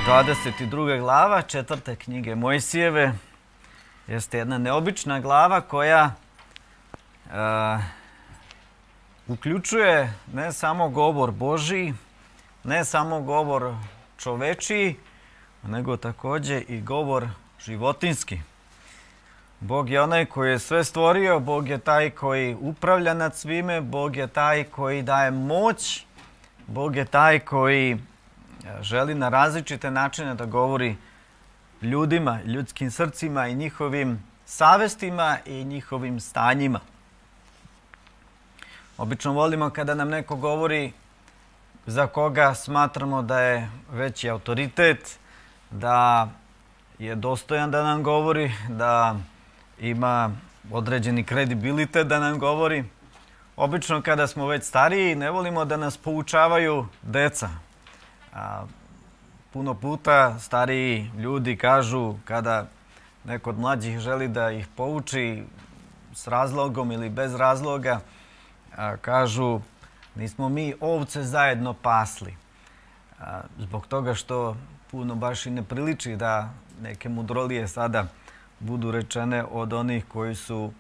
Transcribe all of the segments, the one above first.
22. glava 4. knjige Mojsijeve jeste jedna neobična glava koja uključuje ne samo govor Božji, ne samo govor čovečiji, nego također i govor životinski. Bog je onaj koji je sve stvorio, Bog je taj koji upravlja nad svime, Bog je taj koji daje moć, Bog je taj koji želi na različite načine da govori ljudima, ljudskim srcima i njihovim savestima i njihovim stanjima. Obično volimo kada nam neko govori za koga smatramo da je veći autoritet, da je dostojan da nam govori, da ima određeni kredibilitet da nam govori. Obično kada smo već stariji ne volimo da nas poučavaju deca. Puno puta stariji ljudi kažu kada neko od mlađih želi da ih pouči s razlogom ili bez razloga, kažu nismo mi ovce zajedno pasli. Zbog toga što puno baš i ne priliči da neke mudrolije sada budu rečene od onih koji su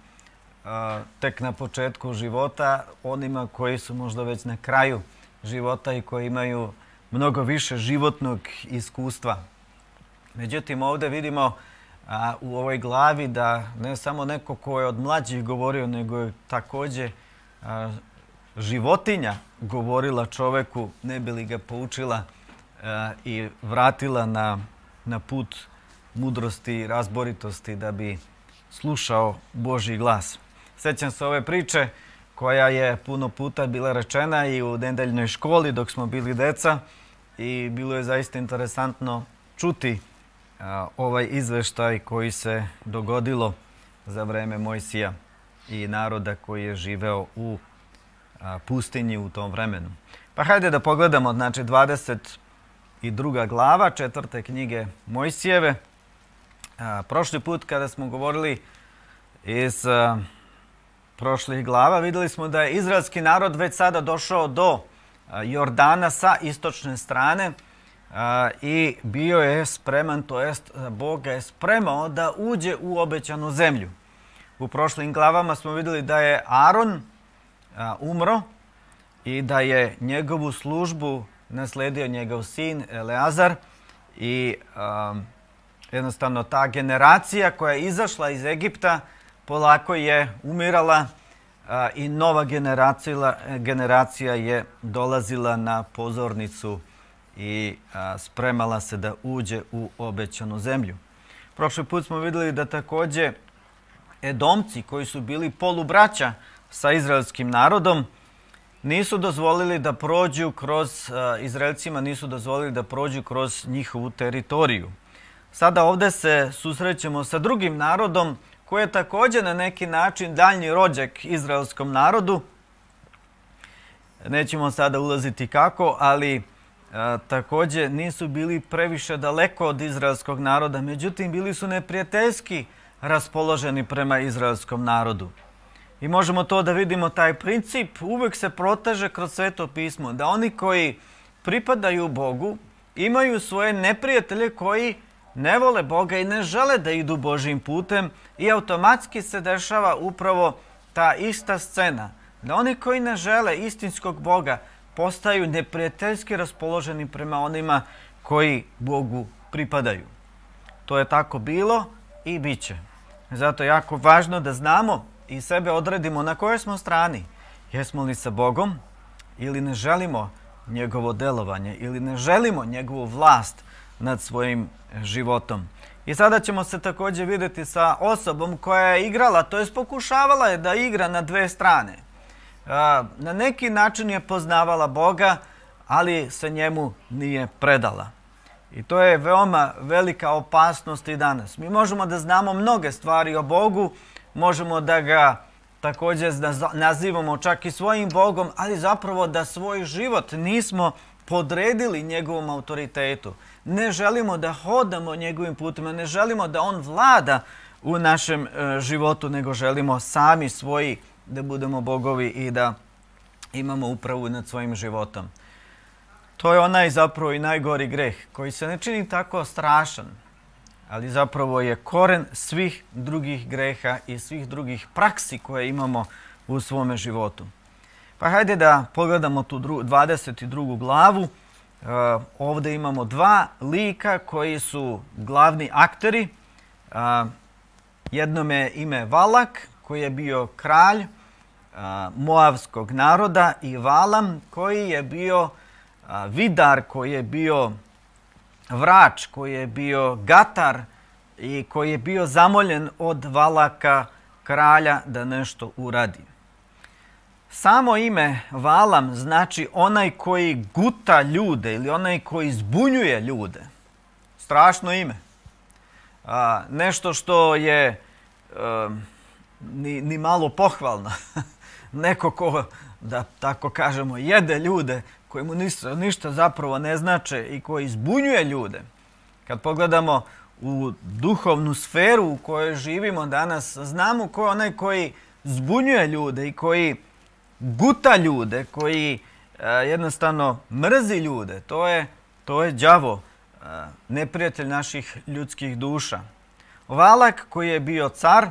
tek na početku života, onima koji su možda već na kraju života i koji imaju mnogo više životnog iskustva. Međutim, ovdje vidimo u ovoj glavi da ne samo neko ko je od mlađih govorio, nego je također životinja govorila čoveku, ne bi li ga poučila i vratila na put mudrosti i razboritosti da bi slušao Božji glas. Sjećam se ove priče koja je puno puta bila rečena i u nedeljnoj školi dok smo bili deca i bilo je zaista interesantno čuti ovaj izveštaj koji se dogodilo za vreme Mojsija i naroda koji je živeo u pustinji u tom vremenu. Pa hajde da pogledamo, znači 22. glava 4. knjige Mojsijeve. Prošli put kada smo govorili iz prošlih glava, vidjeli smo da je izraelski narod već sada došao do Jordana sa istočne strane i bio je spreman, to jest Bog ga je spremao da uđe u obećanu zemlju. U prošlim glavama smo vidjeli da je Aron umro i da je njegovu službu nasledio njegov sin Eleazar i jednostavno ta generacija koja je izašla iz Egipta polako je umirala i nova generacija je dolazila na pozornicu i spremala se da uđe u obećanu zemlju. Prošli put smo vidjeli da također Edomci koji su bili polubraća sa izraelskim narodom nisu dozvolili da prođu kroz, Izraelcima nisu dozvolili da prođu kroz njihovu teritoriju. Sada ovdje se susrećemo sa drugim narodom koji je također na neki način daljnji rođak izraelskom narodu. Nećemo sada ulaziti kako, ali također nisu bili previše daleko od izraelskog naroda, međutim bili su neprijateljski raspoloženi prema izraelskom narodu. I možemo to da vidimo, taj princip uvijek se proteže kroz Sveto pismo, da oni koji pripadaju Bogu imaju svoje neprijatelje koji ne vole Boga i ne žele da idu Božjim putem i automatski se dešava upravo ta ista scena. Da oni koji ne žele istinskog Boga postaju neprijateljski raspoloženi prema onima koji Bogu pripadaju. To je tako bilo i bit će. Zato je jako važno da znamo i sebe odredimo na kojoj smo strani. Jesmo li sa Bogom ili ne želimo njegovo delovanje ili ne želimo njegovu vlast nad svojim životom. I sada ćemo se također vidjeti sa osobom koja je igrala, to jest pokušavala je da igra na dve strane. Na neki način je poznavala Boga, ali se njemu nije predala. I to je veoma velika opasnost i danas. Mi možemo da znamo mnoge stvari o Bogu, možemo da ga također nazivamo čak i svojim Bogom, ali zapravo da svoj život nismo podredili njegovom autoritetu. Ne želimo da hodamo njegovim putima, ne želimo da on vlada u našem životu, nego želimo sami svoji da budemo bogovi i da imamo upravu nad svojim životom. To je onaj zapravo i najgori greh koji se ne čini tako strašan, ali zapravo je koren svih drugih greha i svih drugih praksi koje imamo u svome životu. Pa hajde da pogledamo tu 22. glavu. Ovdje imamo dva lika koji su glavni akteri. Jednom je ime Valak, koji je bio kralj moavskog naroda, i Valam, koji je bio vidar, koji je bio vrač, koji je bio gatar i koji je bio zamoljen od Valaka, kralja, da nešto uradi. Samo ime Valam znači onaj koji guta ljude ili onaj koji zbunjuje ljude. Strašno ime. Nešto što je ni malo pohvalno. Neko ko, da tako kažemo, jede ljude, koji mu ništa zapravo ne znače i koji zbunjuje ljude. Kad pogledamo u duhovnu sferu u kojoj živimo danas, znamo ko je onaj koji zbunjuje ljude i koji guta ljude, koji jednostavno mrzi ljude. To je đavo, neprijatelj naših ljudskih duša. Valak, koji je bio car,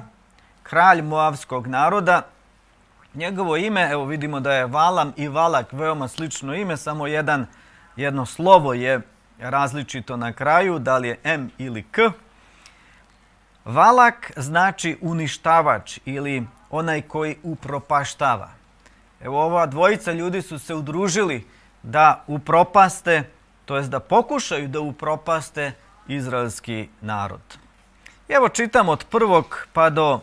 kralj moavskog naroda, njegovo ime, evo vidimo da je Valam i Valak veoma slično ime, samo jedno slovo je različito na kraju, da li je M ili K. Valak znači uništavač ili onaj koji upropaštava. Evo, ova dvojica ljudi su se udružili da upropaste, to jest da pokušaju da upropaste izraelski narod. Evo čitam od 1. pa do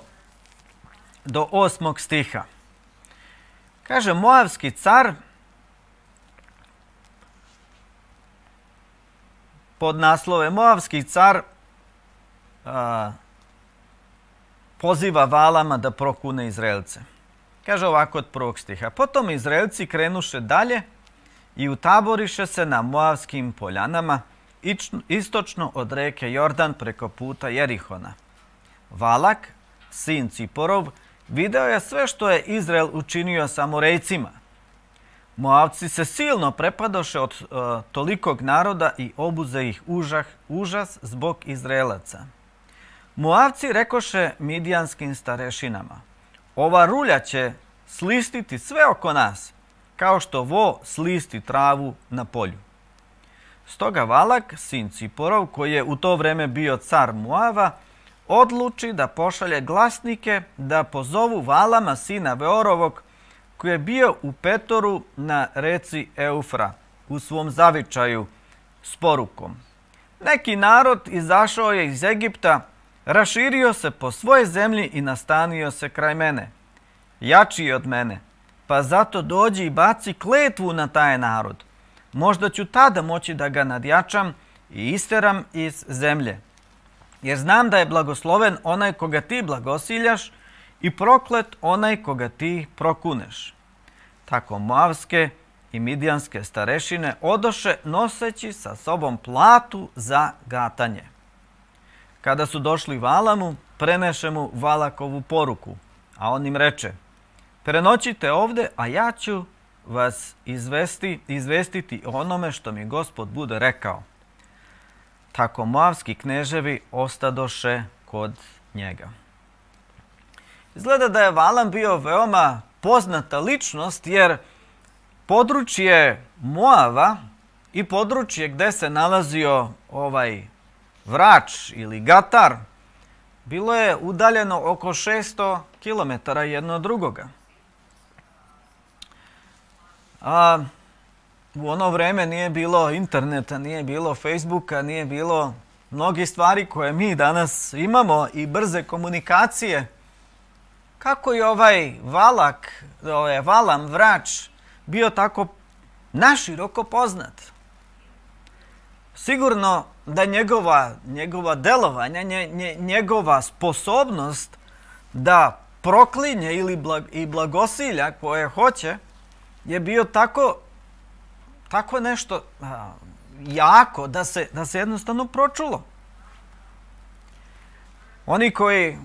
8. stiha. Kaže, moavski car, pod naslove Moavski car poziva Valama da prokune Izraelce. Kaže ovako od 1. stiha. Potom Izraelci krenuše dalje i utaboriše se na Moavskim poljanama, istočno od reke Jordan preko puta Jerihona. Valak, sin Ciporov, video je sve što je Izrael učinio Samorejcima. Moavci se silno prepadoše od tolikog naroda i obuze ih užas zbog Izraelaca. Moavci rekoše midijanskim starešinama: ova rulja će slistiti sve oko nas, kao što vo slisti travu na polju. Stoga Valak, sin Ciporov, koji je u to vreme bio car Moava, odluči da pošalje glasnike da pozovu Valama, sina Veorovog, koji je bio u Petoru na reci Eufra, u svom zavičaju, s porukom: neki narod izašao je iz Egipta, raširio se po svojoj zemlji i nastanio se kraj mene. Jači je od mene, pa zato dođi i baci kletvu na taj narod. Možda ću tada moći da ga nadjačam i isteram iz zemlje. Jer znam da je blagosloven onaj koga ti blagosiljaš i proklet onaj koga ti prokuneš. Tako moavske i midijanske starešine odoše noseći sa sobom platu za gatanje. Kada su došli Valamu, preneše mu Valakovu poruku, a on im reče: prenoćite ovde, a ja ću vas izvestiti o onome što mi Gospod bude rekao. Tako moavski kneževi ostadoše kod njega. Izgleda da je Valam bio veoma poznata ličnost, jer područje Moava i područje gde se nalazio ovaj vrač ili gatar bilo je udaljeno oko 600 km jedno od drugoga. U ono vreme nije bilo interneta, nije bilo Facebooka, nije bilo mnogih stvari koje mi danas imamo i brze komunikacije. Kako je ovaj Valam, vrač, bio tako naširoko poznat? Sigurno da njegova delovanja, njegova sposobnost da proklinje i blagosilja koje hoće je bio tako nešto jako da se jednostavno pročulo. Oni koji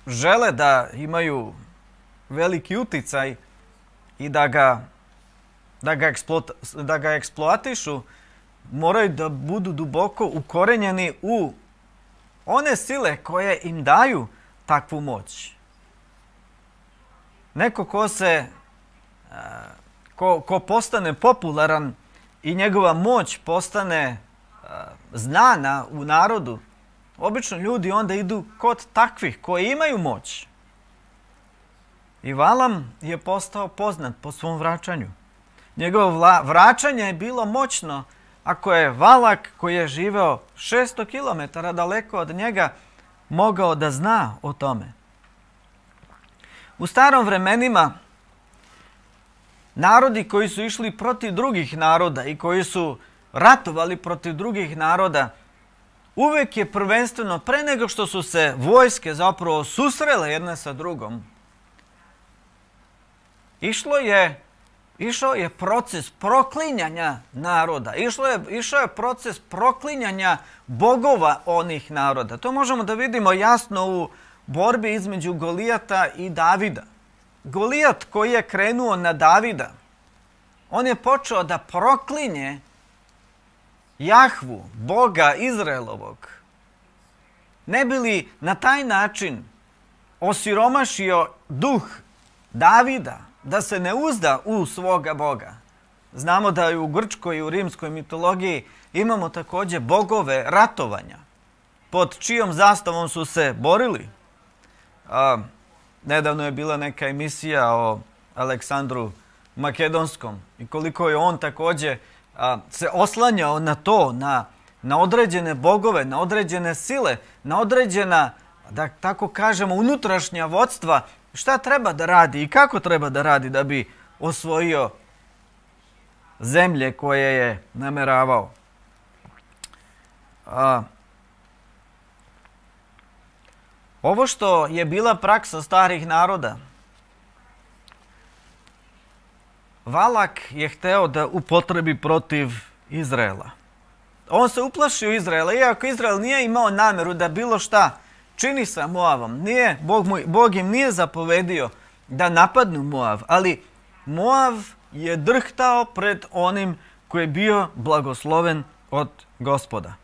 žele da imaju veliki uticaj i da ga da ga eksploatišu, moraju da budu duboko ukorenjeni u one sile koje im daju takvu moć. Neko ko postane popularan i njegova moć postane znana u narodu, obično ljudi onda idu kod takvih koji imaju moć. I Valam je postao poznat po svom vraćanju. Njegovo vraćanje je bilo moćno ako je Valak, koji je živeo 600 km daleko od njega, mogao da zna o tome. U starom vremenima narodi koji su išli protiv drugih naroda i koji su ratovali protiv drugih naroda, uvek je prvenstveno, pre nego što su se vojske zapravo susrele jedna sa drugom, išao je proces proklinjanja naroda. Išao je proces proklinjanja bogova onih naroda. To možemo da vidimo jasno u borbi između Golijata i Davida. Golijat koji je krenuo na Davida, on je počeo da proklinje Jahvu, Boga Izraelovog, ne bi li na taj način osiromašio duh Davida, da se ne uzda u svoga Boga. Znamo da i u grčkoj i u rimskoj mitologiji imamo također bogove ratovanja, pod čijom zastavom su se borili. Nedavno je bila neka emisija o Aleksandru Makedonskom i koliko je on također se oslanjao na to, na određene bogove, na određene sile, na određena, da tako kažemo, unutrašnja vodstva, šta treba da radi i kako treba da radi da bi osvojio zemlje koje je nameravao. Ovo što je bila praksa starih naroda, Valak je hteo da upotrebi protiv Izraela. On se uplašio Izraela, iako Izrael nije imao nameru da bilo šta čini sa Moavom. Bog im nije zapovedio da napadnu Moav, ali Moav je drhtao pred onim koji je bio blagosloven od Gospoda.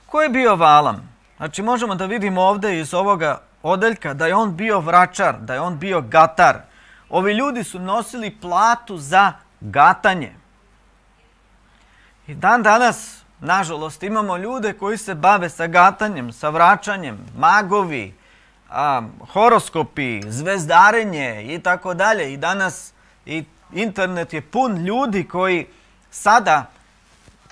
Ko je bio Valam? Znači možemo da vidimo ovdje iz ovoga odeljka da je on bio vračar, da je on bio gatar. Ovi ljudi su nosili platu za gatanje. I dan danas, nažalost, imamo ljude koji se bave sa gatanjem, sa vraćanjem, magovi, horoskopi, zvezdarenje i tako dalje. I danas internet je pun ljudi koji sada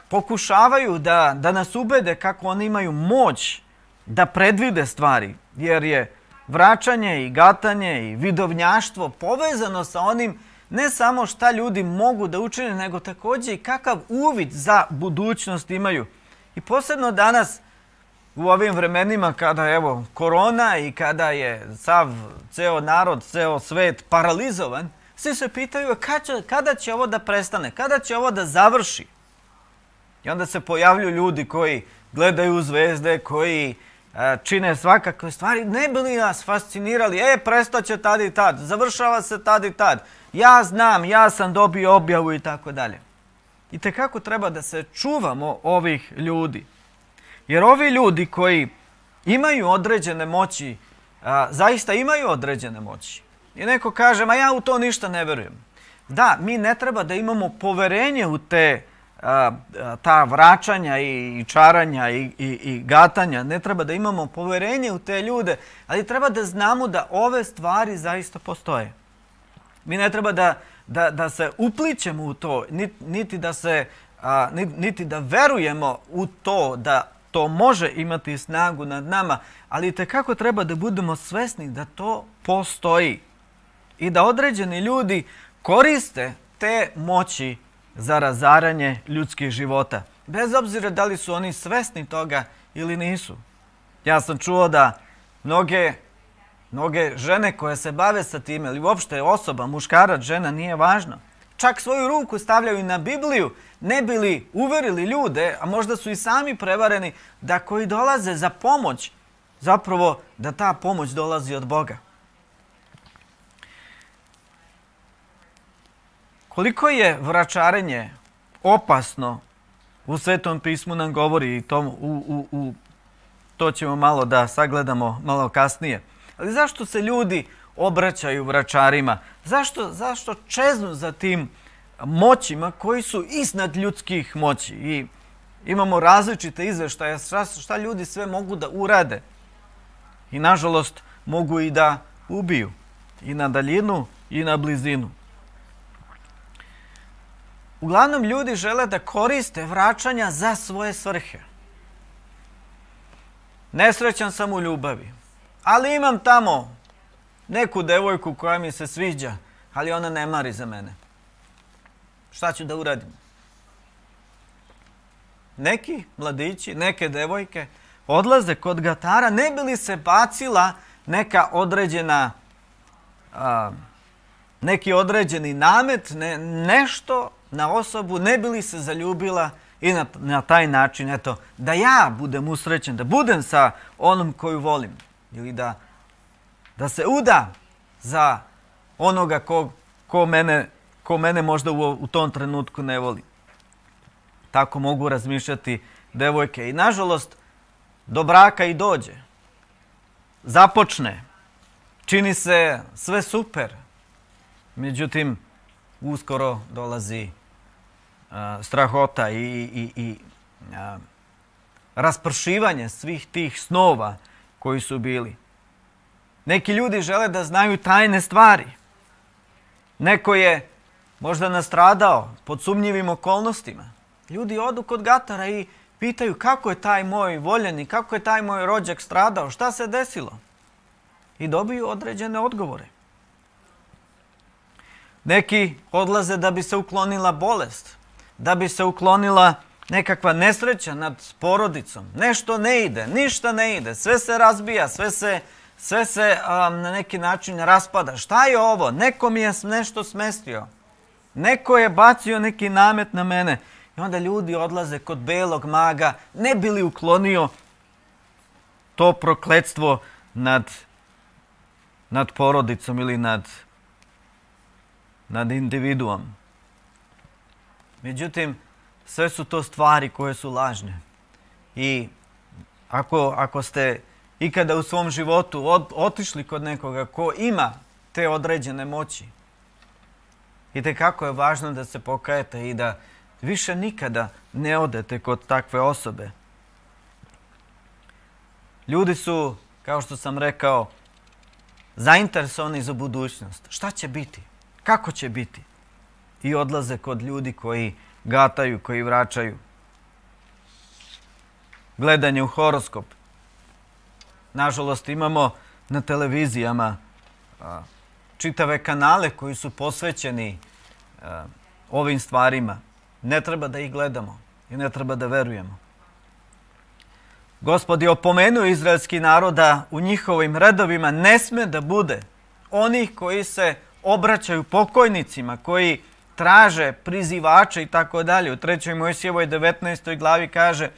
pokušavaju da nas ubede kako oni imaju moć da predvide stvari, jer je vraćanje i gatanje i vidovnjaštvo povezano sa onim ne samo šta ljudi mogu da učine, nego također i kakav uvid za budućnost imaju. I posebno danas u ovim vremenima kada je korona i kada je ceo narod, ceo svet paralizovan, svi se pitaju kada će ovo da prestane, kada će ovo da završi. I onda se pojavljuju ljudi koji gledaju zvezde, koji čine svakakve stvari, ne bi li nas fascinirali, prestaće tad i tad, završava se tad i tad, ja znam, ja sam dobio objavu i tako dalje. I tekako treba da se čuvamo ovih ljudi. Jer ovi ljudi koji imaju određene moći, zaista imaju određene moći. I neko kaže, ma ja u to ništa ne verujem. Da, mi ne treba da imamo poverenje u ta vraćanja i čaranja i gatanja, ne treba da imamo poverenje u te ljude, ali treba da znamo da ove stvari zaista postoje. Mi ne treba da se uplićemo u to, niti da verujemo u to da to može imati snagu nad nama, ali tekako treba da budemo svesni da to postoji i da određeni ljudi koriste te moći za razaranje ljudskih života. Bez obzira da li su oni svesni toga ili nisu. Ja sam čuo da mnoge žene koje se bave sa time, ili uopšte osoba, muškarac, žena, nije važno, čak svoju ruku stavljaju na Bibliju, ne bi li uverili ljude, a možda su i sami prevareni, da koji dolaze za pomoć, zapravo da ta pomoć dolazi od Boga. Koliko je vračarenje opasno, u Svetom pismu nam govori i to ćemo malo da sagledamo malo kasnije. Ali zašto se ljudi obraćaju vračarima? Zašto čeznu za tim moćima koji su iznad ljudskih moći? I imamo različite izveštaje šta ljudi sve mogu da urade. I nažalost mogu i da ubiju. I na daljinu i na blizinu. Uglavnom ljudi žele da koriste vraćanja za svoje svrhe. Nesrećan sam u ljubavi, ali imam tamo neku devojku koja mi se sviđa, ali ona ne mari za mene. Šta ću da uradim? Neki mladići, neke devojke odlaze kod gatara ne bi li se bacila neka određena, neki određeni namet, nešto na osobu, ne bi li se zaljubila i na taj način, eto, da ja budem usrećen, da budem sa onom koju volim. Ili da se uda za onoga ko mene možda u tom trenutku ne voli. Tako mogu razmišljati devojke. I nažalost, do braka i dođe. Započne. Čini se sve super. Međutim, uskoro dolazi strahota i raspršivanje svih tih snova koji su bili. Neki ljudi žele da znaju tajne stvari. Neko je možda nastradao pod sumnjivim okolnostima. Ljudi odu kod gatara i pitaju kako je taj moj voljeni, kako je taj moj rođak stradao, šta se desilo? I dobiju određene odgovore. Neki odlaze da bi se uklonila bolest, da bi se uklonila nekakva nesreća nad porodicom. Nešto ne ide, ništa ne ide, sve se razbija, sve se na neki način raspada. Šta je ovo? Neko mi je nešto smestio. Neko je bacio neki namet na mene. I onda ljudi odlaze kod belog maga, ne bi li uklonio to prokletstvo nad porodicom ili nad individuom. Međutim, sve su to stvari koje su lažne. I ako ste ikada u svom životu otišli kod nekoga ko ima te određene moći, itekako je važno da se pokajete i da više nikada ne odete kod takve osobe. Ljudi su, kao što sam rekao, zainteresovani za budućnost. Šta će biti? Kako će biti? I odlaze kod ljudi koji gataju, koji vraćaju. Gledanje u horoskop. Nažalost, imamo na televizijama čitave kanale koji su posvećeni ovim stvarima. Ne treba da ih gledamo i ne treba da verujemo. Gospod je opomenuo izraelski narod da u njihovim redovima ne sme da bude onih koji se obraćaju pokojnicima, koji traže prizivače i tako dalje. U 3. Mojsijevoj 19. glavi kaže: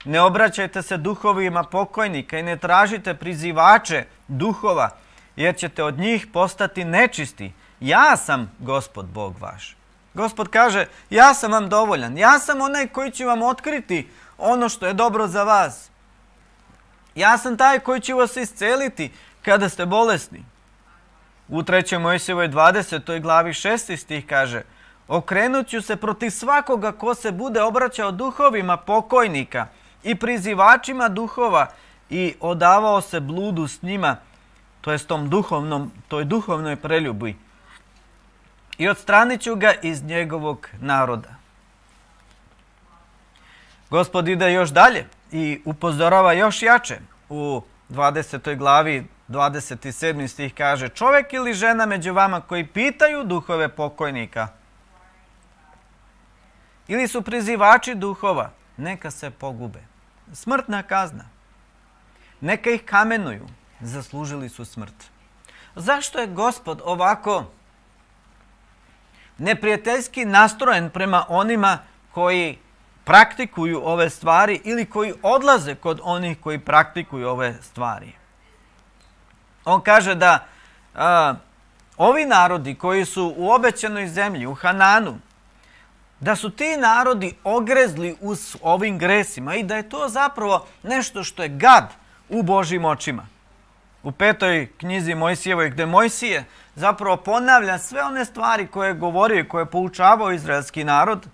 ne obraćajte se duhovima pokojnika i ne tražite prizivače duhova, jer ćete od njih postati nečisti. Ja sam Gospod Bog vaš. Gospod kaže: ja sam vam dovoljan. Ja sam onaj koji će vam otkriti ono što je dobro za vas. Ja sam taj koji će vas isceliti kada ste bolesni. U 3. Mojsijevoj 20. glavi 6. stih kaže: okrenut ću se protiv svakoga ko se bude obraćao duhovima pokojnika i prizivačima duhova i odavao se bludu s njima, to jest toj duhovnoj preljubi. I odstranit ću ga iz njegovog naroda. Gospod ide još dalje i upozorava još jače. U 20. glavi 27. stih kaže: čovjek ili žena među vama koji pitaju duhove pokojnika ili su prizivači duhova, neka se pogube. Smrtna kazna. Neka ih kamenuju, zaslužili su smrt. Zašto je Gospod ovako neprijateljski nastrojen prema onima koji praktikuju ove stvari ili koji odlaze kod onih koji praktikuju ove stvari? On kaže da ovi narodi koji su u obećanoj zemlji, u Hananu, da su ti narodi ogrezli u ovim gresima i da je to zapravo nešto što je gad u Božjim očima. U 5. knjizi Mojsijevoj, gdje Mojsije zapravo ponavlja sve one stvari koje je govorio i koje je poučavao izraelski narod,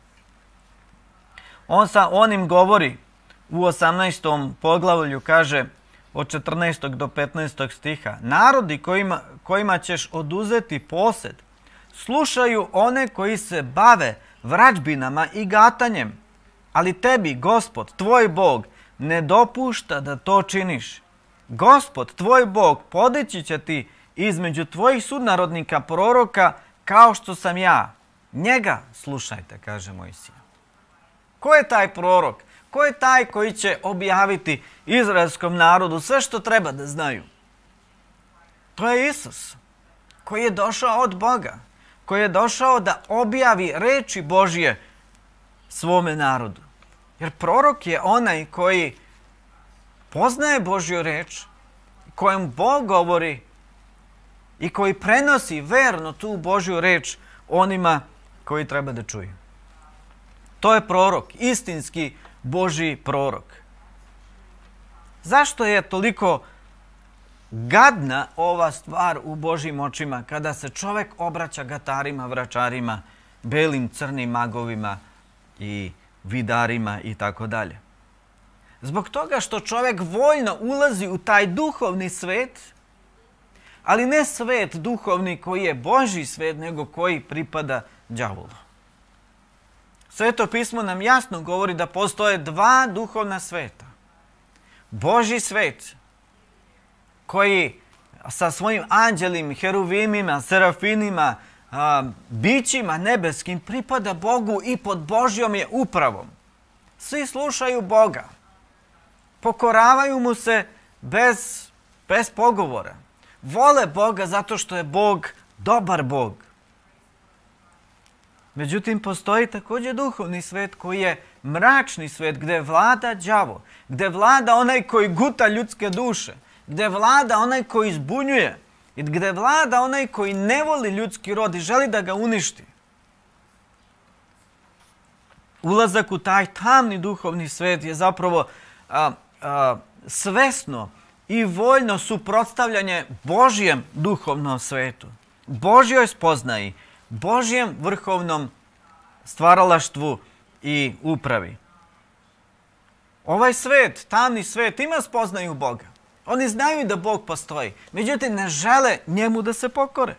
on im govori u 18. poglavlju, kaže od 14. do 15. stiha, narodi kojima ćeš oduzeti posed, slušaju one koji se bave vrađbinama i gatanjem, ali tebi, Gospod, tvoj Bog, ne dopušta da to činiš. Gospod, tvoj Bog, podići će ti između tvojih sunarodnika proroka kao što sam ja. Njega slušajte, kaže Mojsije. Ko je taj prorok? Ko je taj koji će objaviti izraelskom narodu sve što treba da znaju? To je Isus, koji je došao od Boga, koji je došao da objavi reči Božje svome narodu. Jer prorok je onaj koji poznaje Božju reč, kojem Bog govori i koji prenosi verno tu Božju reč onima koji treba da čuju. To je prorok, istinski Božji prorok. Zašto je toliko gadna ova stvar u Božjim očima kada se čovjek obraća gatarima, vračarima, belim, crnim magovima i vidarima i tako dalje? Zbog toga što čovjek voljno ulazi u taj duhovni svet, ali ne svet duhovni koji je Božji svet, nego koji pripada đavolu. Sveto pismo nam jasno govori da postoje dva duhovna sveta. Božji svet, koji sa svojim anđelima, heruvimima, serafinima, bićima nebeskim pripada Bogu i pod Božjom je upravom. Svi slušaju Boga. Pokoravaju mu se bez pogovora. Vole Boga zato što je Bog dobar Bog. Međutim, postoji također duhovni svet koji je mračni svet, gdje vlada đavo, gdje vlada onaj koji guta ljudske duše, gdje vlada onaj koji zbunjuje i gdje vlada onaj koji ne voli ljudski rod i želi da ga uništi. Ulazak u taj tamni duhovni svet je zapravo svesno i voljno suprotstavljanje Božjem duhovnom svetu, Božjoj spoznaji, Božjem vrhovnom stvaralaštvu i upravi. Ovaj svet, tamni svet, ima spoznaju Boga. Oni znaju da Bog postoji, međutim ne žele njemu da se pokore.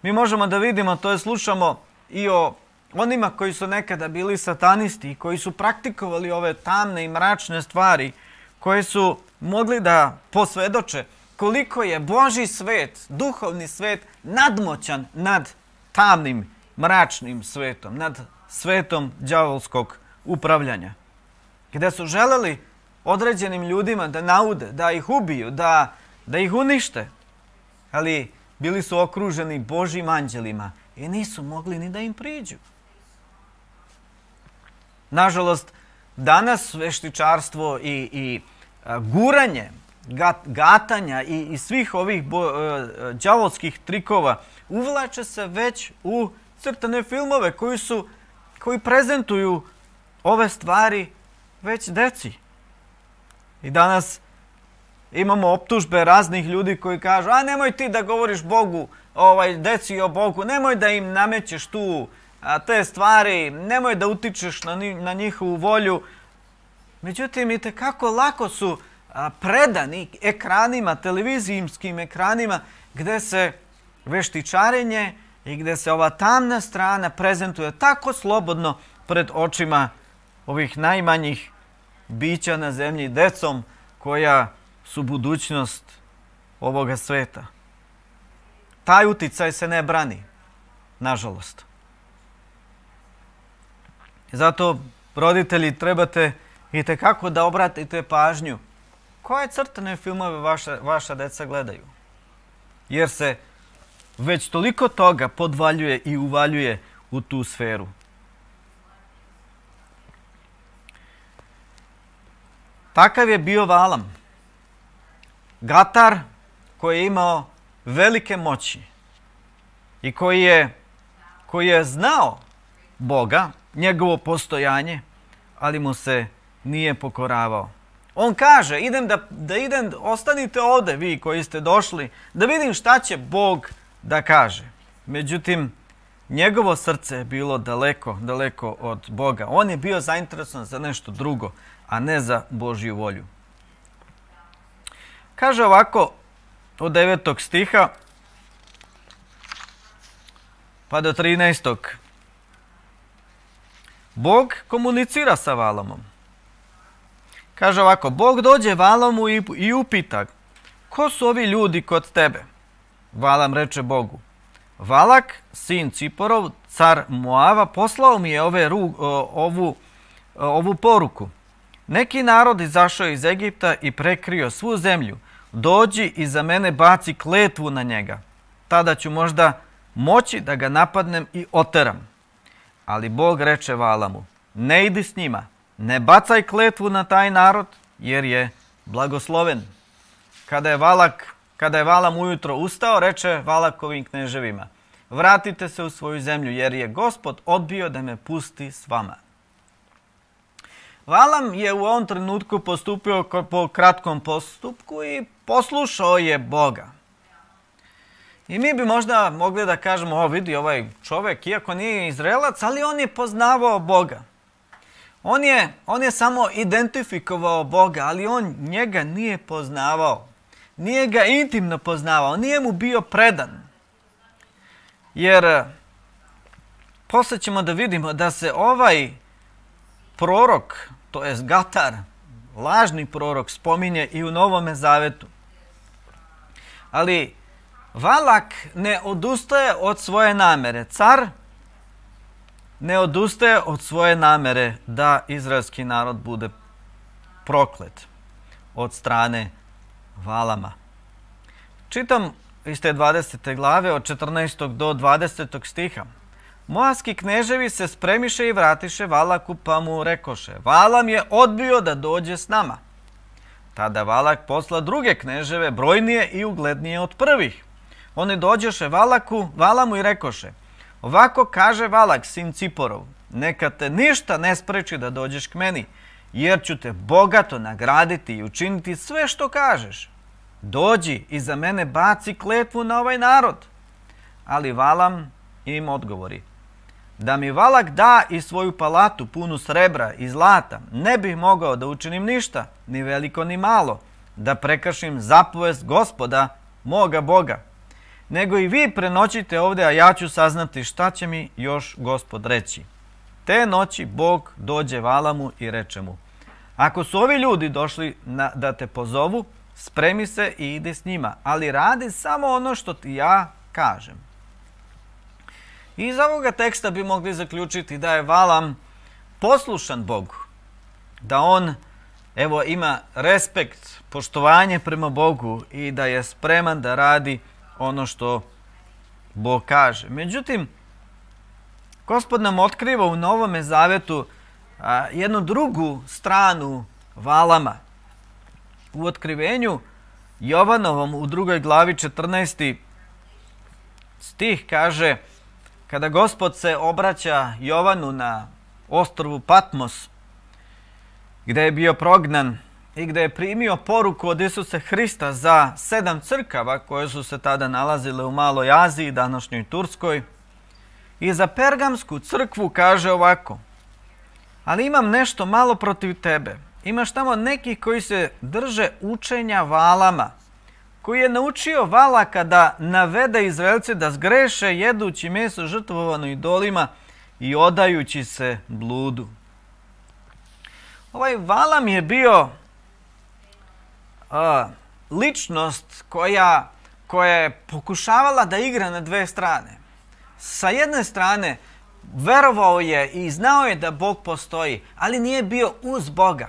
Mi možemo da vidimo, to je slušamo i o onima koji su nekada bili satanisti i koji su praktikovali ove tamne i mračne stvari, koji su mogli da posvedoče koliko je Božji svet, duhovni svet, nadmoćan nad tamnim, mračnim svetom, nad svetom đavolskog upravljanja. Gde su želeli određenim ljudima da naude, da ih ubiju, da ih unište, ali bili su okruženi Božjim anđelima i nisu mogli ni da im priđu. Nažalost, danas veštičarstvo i guranje, gatanja i svih ovih đavolskih trikova uvlače se već u crtane filmove koji prezentuju ove stvari već deci. I danas imamo optužbe raznih ljudi koji kažu: a nemoj ti da govoriš Bogu, deci o Bogu, nemoj da im namećeš tu te stvari, nemoj da utičeš na njihovu volju. Međutim, i tekako lako su predani ekranima, televizijskim ekranima, gde se veštičarenje i gde se ova tamna strana prezentuje tako slobodno pred očima ovih najmanjih bića na zemlji, decom koja su budućnost ovoga sveta. Taj uticaj se ne brani, nažalost. Zato, roditelji, trebate i tekako da obratite pažnju koje crtane filmove vaša deca gledaju. Jer se već toliko toga podvaljuje i uvaljuje u tu sferu. Takav je bio Valam. Gatar koji je imao velike moći i koji je znao Boga, njegovo postojanje, ali mu se nije pokoravao. On kaže, ostanite ovdje vi koji ste došli, da vidim šta će Bog da kaže. Međutim, njegovo srce je bilo daleko, daleko od Boga. On je bio zainteresovan za nešto drugo, a ne za Božju volju. Kaže ovako od 9. stiha pa do 13. Bog komunicira sa Valamom. Kaže ovako, Bog dođe Valamu i upita, ko su ovi ljudi kod tebe? Valam reče Bogu, Valak, sin Ciporov, car Moava, poslao mi je ovu poruku. Neki narod izašao iz Egipta i prekrio svu zemlju. Dođi i za mene baci kletvu na njega. Tada ću možda moći da ga napadnem i oteram. Ali Bog reče Valamu, ne idi s njima, ne bacaj kletvu na taj narod, jer je blagosloven. Kada je Valam ujutro ustao, reče Valakovim kneževima, vratite se u svoju zemlju, jer je Gospod odbio da me pusti s vama. Valam je u ovom trenutku postupio po kratkom postupku i poslušao je Boga. I mi bi možda mogli da kažemo, vidi ovaj čovjek, iako nije Izraelac, ali on je poznavao Boga. On je samo identifikovao Boga, ali on njega nije poznavao. Nije ga intimno poznavao, nije mu bio predan. Jer poslije ćemo da vidimo da se ovaj prorok, to jest Gatar, lažni prorok, spominje i u Novome Zavetu. Ali Valak ne odustaje od svoje namere. Car ne odustaje od svoje namere da izraelski narod bude proklet od strane Valama. Čitam iz te 20. glave od 14. do 20. stiha. Moavski kneževi se spremiše i vratiše Valaku, pa mu rekoše, Valam je odbio da dođe s nama. Tada Valak posla druge kneževe, brojnije i uglednije od prvih. Oni dođoše Valamu i rekoše, ovako kaže Valak, sin Ciporov, neka te ništa ne spreči da dođeš k meni, jer ću te bogato nagraditi i učiniti sve što kažeš. Dođi i za mene baci kletvu na ovaj narod. Ali Valam im odgovori, da mi Valak da i svoju palatu punu srebra i zlata, ne bih mogao da učinim ništa, ni veliko ni malo, da prekršim zapovest Gospoda, moga Boga. Nego i vi prenoćite ovdje, a ja ću saznati šta će mi još Gospod reći. Te noći Bog dođe Valamu i reče mu, ako su ovi ljudi došli da te pozovu, spremi se i ide s njima, ali radi samo ono što ti ja kažem. Iz ovoga teksta bi mogli zaključiti da je Valam poslušan Bogu, da on ima respekt, poštovanje prema Bogu i da je spreman da radi ono što Bog kaže. Međutim, Gospod nam otkriva u Novome Zavetu jednu drugu stranu Valama. U otkrivenju Jovanovom u 2. glavi 14. stih kaže, kada Gospod se obraća Jovanu na ostrvu Patmos, gdje je bio prognan i gdje je primio poruku od Isusa Hrista za 7 crkava koje su se tada nalazile u Maloj Aziji, današnjoj Turskoj, i za Pergamsku crkvu kaže ovako, ali imam nešto malo protiv tebe. Imaš tamo nekih koji se drže učenja Valama, koji je naučio Valaka da navede Izraelce da zgreše jedući meso žrtvovano idolima i odajući se bludu. Ovaj Valam je bio ličnost koja je pokušavala da igra na dve strane. Sa jedne strane verovao je i znao je da Bog postoji, ali nije bio uz Boga.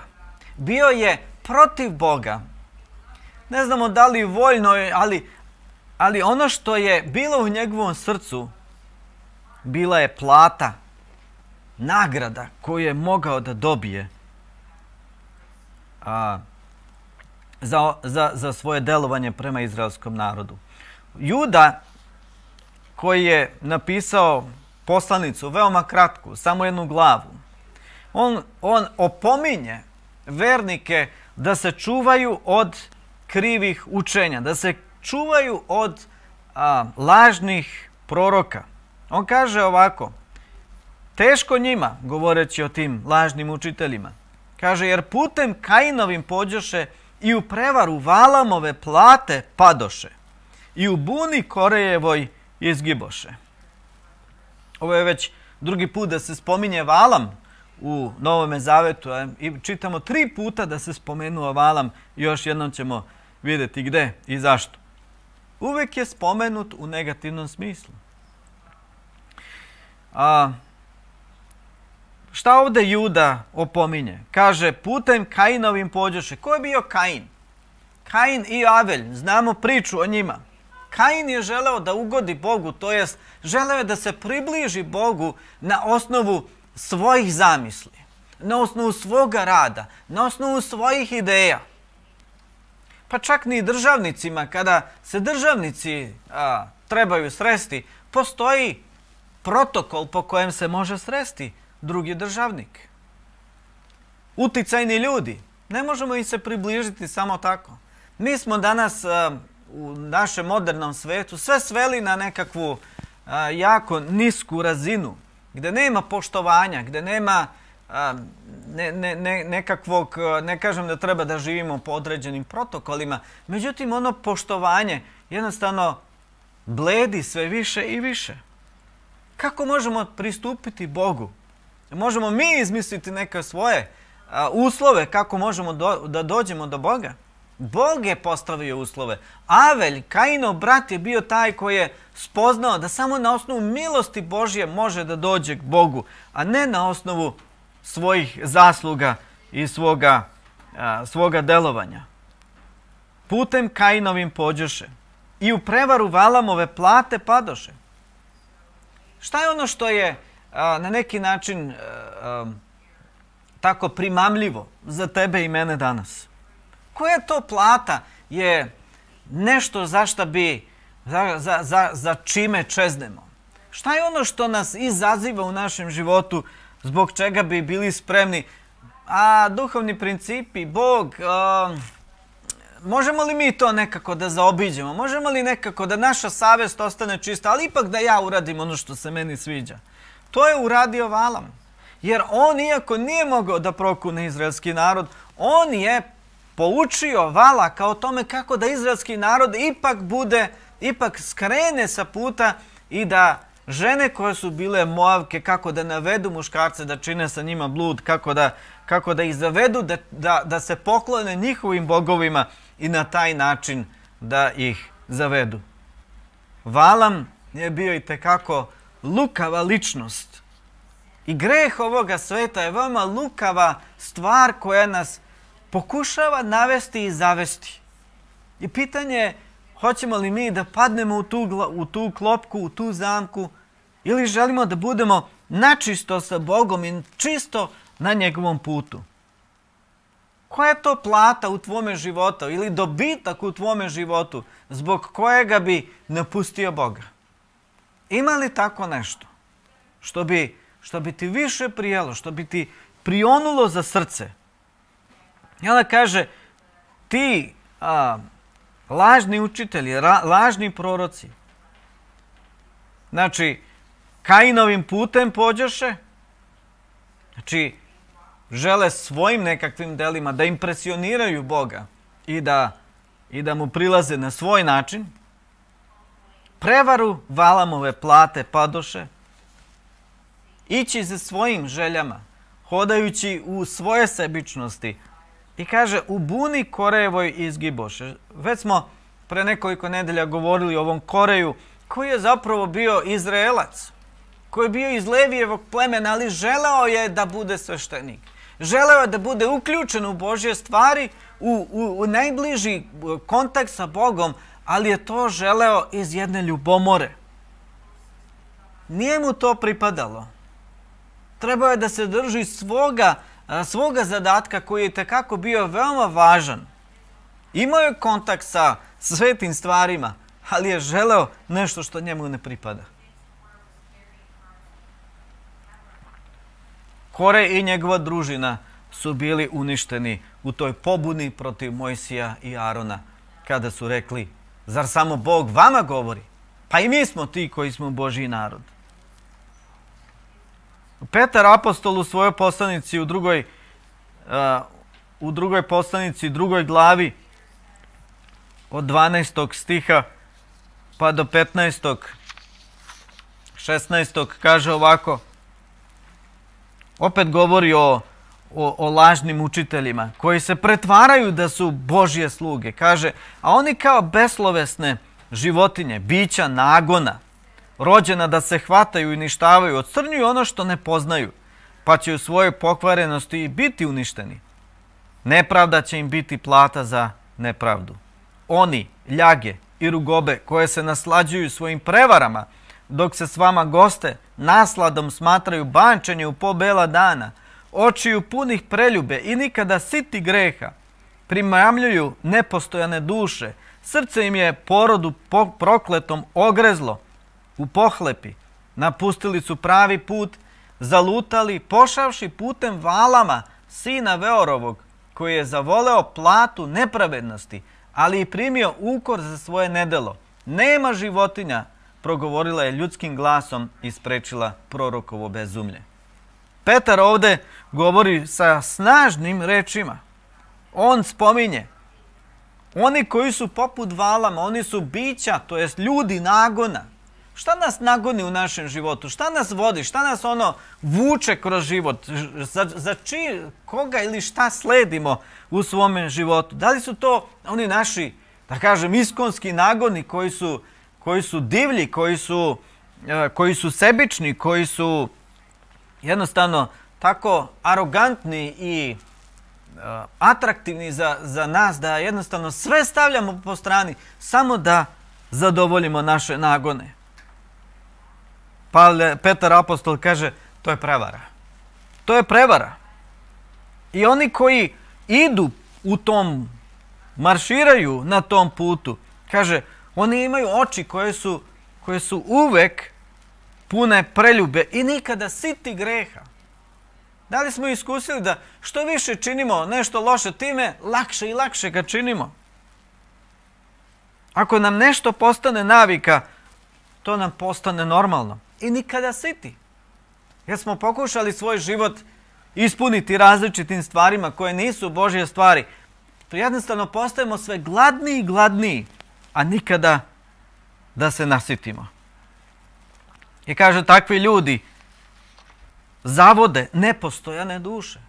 Bio je protiv Boga. Ne znamo da li voljno, ali ono što je bilo u njegovom srcu bila je plata, nagrada koju je mogao da dobije za svoje delovanje prema izraelskom narodu. Juda, koji je napisao poslanicu, veoma kratku, samo jednu glavu, on opominje vernike da se čuvaju od krivih učenja, da se čuvaju od lažnih proroka. On kaže ovako, teško njima, govoreći o tim lažnim učiteljima, kaže, jer putem Kainovim pođoše i u prevaru Valamove plate padoše i u buni Korejevoj izgiboše. Ovo je već drugi put da se spominje Valam u Novome Zavetu i čitamo 3 puta da se spomenuo Valam i još jednom ćemo vidjeti gde i zašto. Uvijek je spomenut u negativnom smislu. Šta ovdje Juda opominje? Kaže, putem Kainovim pođoše. Ko je bio Kain? Kain i Avelj, znamo priču o njima. Kain je želeo da ugodi Bogu, to jest želeo je da se približi Bogu na osnovu svojih zamisli, na osnovu svoga rada, na osnovu svojih ideja. Pa čak ni državnicima, kada se državnici trebaju sresti, postoji protokol po kojem se može sresti drugi državnik. Uticajni ljudi, ne možemo im se približiti samo tako. Mi smo danas u našem modernom svetu sve sveli na nekakvu jako nisku razinu, gdje nema poštovanja, gdje nema nekakvog, ne kažem da treba da živimo po određenim protokolima, međutim ono poštovanje jednostavno bledi sve više i više. Kako možemo pristupiti Bogu? Možemo mi izmisliti neke svoje uslove kako možemo da dođemo do Boga? Bog je postavio uslove. Avelj, Kainov brat, je bio taj koji je spoznao da samo na osnovu milosti Božje može da dođe k Bogu, a ne na osnovu svojih zasluga i svoga delovanja. Putem Kainovim pođoše i u prevaru Valamove plate padoše. Šta je ono što je na neki način tako primamljivo za tebe i mene danas? Koja to plata je nešto za čime čeznemo? Šta je ono što nas izaziva u našem životu, zbog čega bi bili spremni? Duhovni principi, Bog, možemo li mi to nekako da zaobiđemo? Možemo li nekako da naša savjest ostane čista, ali ipak da ja uradim ono što se meni sviđa? To je uradio Valam. Jer on, iako nije mogao da prokune izraelski narod, on je poučio Valaka o tome kako da izraelski narod ipak skrene sa puta i da žene koje su bile Moavke, kako da navedu muškarce da čine sa njima blud, kako da ih zavedu da se poklone njihovim bogovima i na taj način da ih zavedu. Valam je bio itekako lukava ličnost. I greh ovoga sveta je veoma lukava stvar koja nas pokušava navesti i zavesti. I pitanje je, hoćemo li mi da padnemo u tu klopku, u tu zamku, ili želimo da budemo načisto sa Bogom i čisto na njegovom putu? Koja je to plata u tvome životu ili dobitak u tvome životu zbog kojega bi napustio Boga? Ima li tako nešto što bi ti više prijelo, što bi ti prionulo za srce? I onda kaže, ti lažni učitelji, lažni proroci, znači, Kainovim putem pođoše, znači, žele svojim nekakvim delima da impresioniraju Boga i da mu prilaze na svoj način, prevaru Valamove plate padoše, ići za svojim željama, hodajući u svoje sebičnosti. I kaže, u buni Korejevoj izgiboše. Već smo pre nekoliko nedelja govorili o ovom Koreju, koji je zapravo bio Izraelac, koji je bio iz Levijevog plemena, ali želeo je da bude sveštenik. Želeo je da bude uključen u Božje stvari, u najbliži kontakt sa Bogom, ali je to želeo iz jedne ljubomore. Nije mu to pripadalo. Trebao je da se drži svoga zadatka koji je tekako bio veoma važan. Imao je kontakt sa svetim stvarima, ali je želeo nešto što njemu ne pripada. Kore i njegova družina su bili uništeni u toj pobuni protiv Mojsija i Arona, kada su rekli, zar samo Bog vama govori? Pa i mi smo ti koji smo Božji narod. Petar apostol u svojoj poslanici u drugoj poslanici, drugoj glavi, od 12. stiha pa do 15. 16. kaže ovako, opet govori o lažnim učiteljima koji se pretvaraju da su Božje sluge. Kaže, a oni kao beslovesne životinje, bića nagona, rođena da se hvataju i uništavaju, ocrnjuju ono što ne poznaju, pa će u svojoj pokvarenosti i biti uništeni. Nepravda će im biti plata za nepravdu. Oni, ljage i rugobe koje se naslađuju svojim prevarama, dok se s vama goste nasladom smatraju bančenje u po bela dana, očiju punih preljube i nikada siti greha, primamljuju nepostojane duše, srce im je porodu prokletom ogrezlo u pohlepi, napustili su pravi put, zalutali, pošavši putem Valama, sina Veorovog, koji je zavoleo platu nepravednosti, ali i primio ukor za svoje nedelo. Nema životinja, progovorila je ljudskim glasom i sprečila prorokovo bezumlje. Petar ovdje govori sa snažnim rečima. On spominje, oni koji su poput Valama, oni su bića, to jest ljudi nagona. Šta nas nagoni u našem životu? Šta nas vodi? Šta nas vuče kroz život? Za koga ili šta sledimo u svome životu? Da li su to oni naši, da kažem, iskonski nagoni koji su divlji, koji su sebični, koji su jednostavno tako arogantni i atraktivni za nas, da jednostavno sve stavljamo po strani samo da zadovoljimo naše nagone? Pa Petar apostol kaže, to je prevara. To je prevara. I oni koji idu u tom, marširaju na tom putu, kaže, oni imaju oči koje su uvek pune preljube i nikada siti greha. Da li smo iskusili da što više činimo nešto loše, time lakše i lakše ga činimo? Ako nam nešto postane navika, to nam postane normalno. I nikada siti. Jer smo pokušali svoj život ispuniti različitim stvarima koje nisu Božje stvari. To jednostavno postajemo sve gladniji i gladniji, a nikada da se nasitimo. I kaže, takvi ljudi zavode nepostojane duše.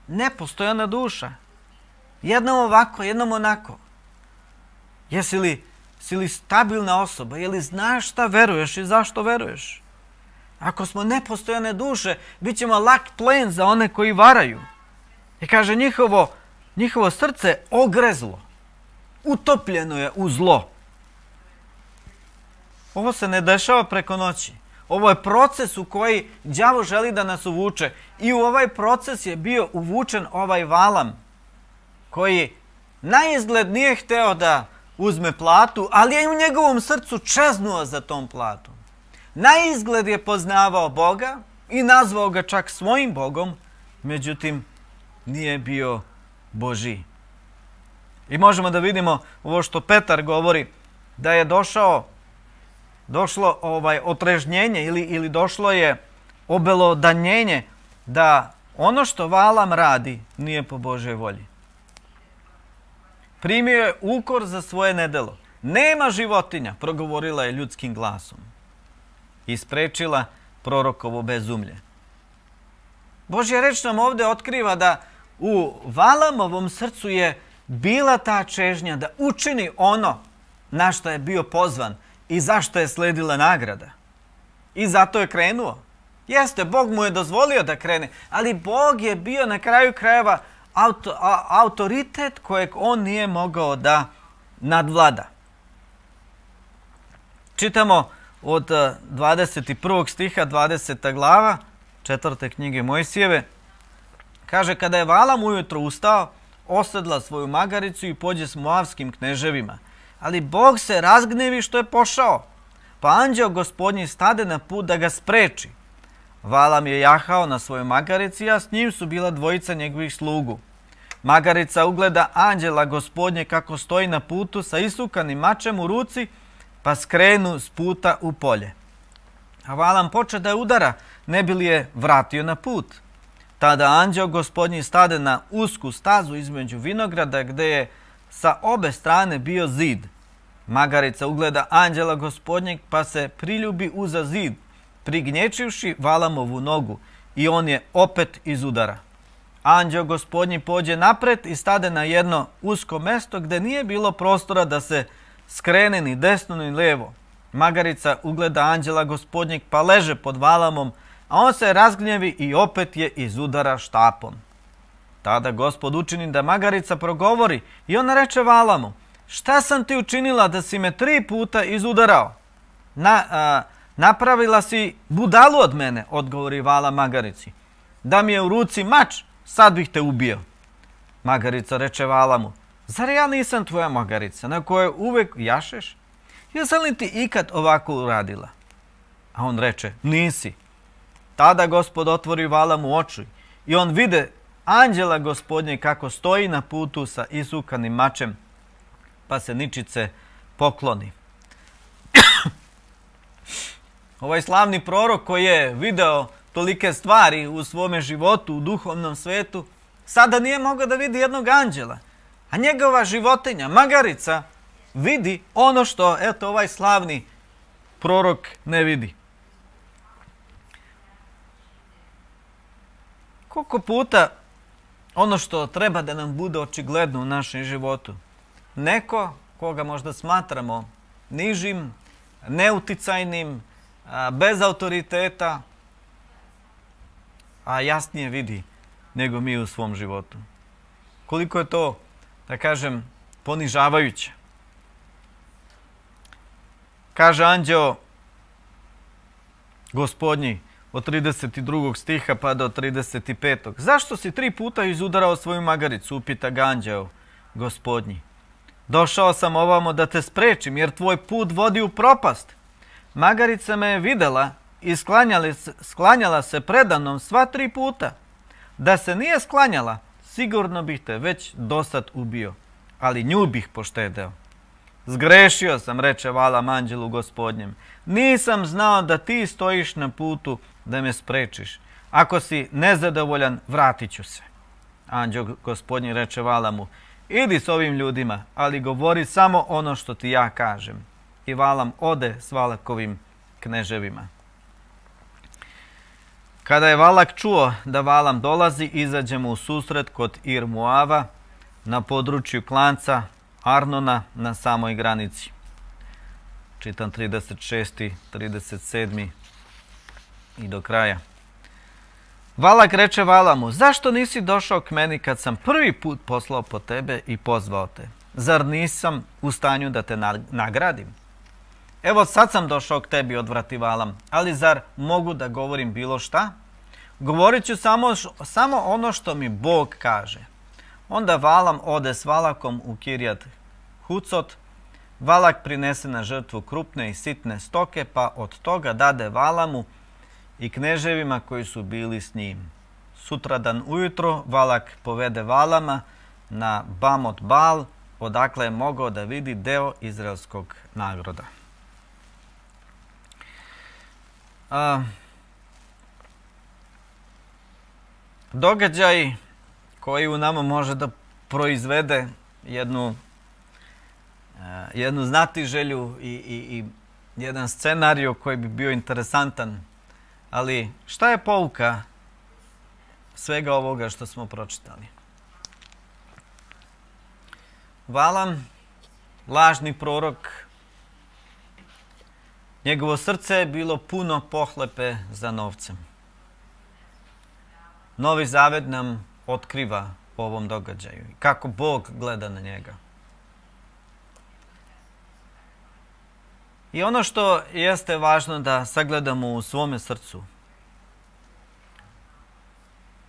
Nepostojana duša. Jednom ovako, jednom onako. Jesi li stabilna osoba? Je li znaš šta veruješ i zašto veruješ? Ako smo nepostojane duše, bit ćemo lak plen za one koji varaju. I kaže, njihovo srce ogrezlo. Utopljeno je u zlo. Ovo se ne dešava preko noći. Ovo je proces u koji đavo želi da nas uvuče. I u ovaj proces je bio uvučen ovaj Valam, koji naizgled nije hteo da uzme platu, ali je u njegovom srcu čeznuo za tom platom. Naizgled je poznavao Boga i nazvao ga čak svojim Bogom, međutim nije bio Božji. I možemo da vidimo ovo što Petar govori, da je došlo otrežnjenje ili došlo je obelodanjenje da ono što Valam radi nije po Božjoj volji. Primio je ukor za svoje nedelo. Nema životinja, progovorila je ljudskim glasom. I sprečila prorokovo bezumlje. Božja reč nam ovdje otkriva da u Valamovom srcu je bila ta čežnja da učini ono na što je bio pozvan i zašto je sledila nagrada. I zato je krenuo. Jeste, Bog mu je dozvolio da krene, ali Bog je bio na kraju krajeva autoritet kojeg on nije mogao da nadvlada. Čitamo od 21. stiha, 20. glava, 4. knjige Mojsijeve. Kaže, kada je Valam ujutro ustao, osedla svoju magaricu i pođe s moavskim kneževima. ali Bog se razgnevi što je pošao, pa anđeo Gospodnji stade na put da ga spreči. Valam je jahao na svojoj magarici, a s njim su bila dvojica njegovih slugu. Magarica ugleda anđela Gospodnje kako stoji na putu sa isukanim mačem u ruci, pa skrenu s puta u polje. A Valam poče da je udara, ne bi li je vratio na put. Tada anđeo Gospodnji stade na usku stazu između vinograda gde je sa obe strane bio zid. Magarica ugleda anđela Gospodnjeg pa se priljubi uza zid, prignječivši Valamovu nogu, i on je opet izudara. Anđeo Gospodnji pođe napred i stade na jedno usko mesto gde nije bilo prostora da se skrene ni desno ni lijevo. Magarica ugleda anđela Gospodnjeg pa leže pod Valamom, a on se razgnjevi i opet je izudara štapom. Tada Gospod učini da magarica progovori i ona reče Valamu: šta sam ti učinila da si me 3 puta izudarao? Napravila si budalu od mene, odgovori Valam magarici. Da mi je u ruci mač, sad bih te ubio. Magarica reče Valamu: zar ja nisam tvoja magarica na kojoj uvek jašeš? Jesam li ti ikad ovako uradila? A on reče: nisi. Tada Gospod otvori Valamu oči i on vide anđela Gospodnje kako stoji na putu sa isukanim mačem, pa se ničice pokloni. Ovaj slavni prorok koji je video tolike stvari u svome životu, u duhovnom svetu, sada nije mogao da vidi jednog anđela, a njegova životinja, magarica, vidi ono što, eto, ovaj slavni prorok ne vidi. Koliko puta ono što treba da nam bude očigledno u našem životu, neko koga možda smatramo nižim, neuticajnim, bez autoriteta, a jasnije vidi nego mi u svom životu. Koliko je to, da kažem, ponižavajuće. Kaže anđeo Gospodnji od 32. stiha pa do 35. Zašto si 3 puta izudarao svoju magaricu? Upita ga anđeo Gospodnji. Došao sam ovamo da te sprečim, jer tvoj put vodi u propast. Magarica me je videla i sklanjala se predanom sva 3 puta. Da se nije sklanjala, sigurno bih te već dosad ubio, ali nju bih poštedeo. Zgrešio sam, reče Valam anđelu Gospodnjem. Nisam znao da ti stojiš na putu da me sprečiš. Ako si nezadovoljan, vratit ću se. Anđeo Gospodnji reče Valamu: idi s ovim ljudima, ali govori samo ono što ti ja kažem. I Valam ode s Valakovim kneževima. Kada je Valak čuo da Valam dolazi, izađe mu u susret kod Ir Moava na području klanca Arnona na samoj granici. Čitam 36. 37. i do kraja. Valak reče Valamu: zašto nisi došao k meni kad sam prvi put poslao po tebe i pozvao te? Zar nisam u stanju da te nagradim? Evo sad sam došao k tebi, odvrati Valam, ali zar mogu da govorim bilo šta? Govorit ću samo ono što mi Bog kaže. Onda Valam ode s Valakom u Kirjat Hucot. Valak prinese na žrtvu krupne i sitne stoke, pa od toga dade Valamu i kneževima koji su bili s njim. Sutradan ujutro Valak povede Valama na Bamot Bal, odakle je mogao da vidi deo izraelskog naroda. Događaj koji u nama može da proizvede jednu znatiželju i jedan scenarij koji bi bio interesantan. Ali šta je pouka svega ovoga što smo pročitali? Valam, lažni prorok, njegovo srce je bilo puno pohlepe za novcem. Novi Zavet nam otkriva po ovom događaju i kako Bog gleda na njega. I ono što jeste važno da sagledamo u svome srcu,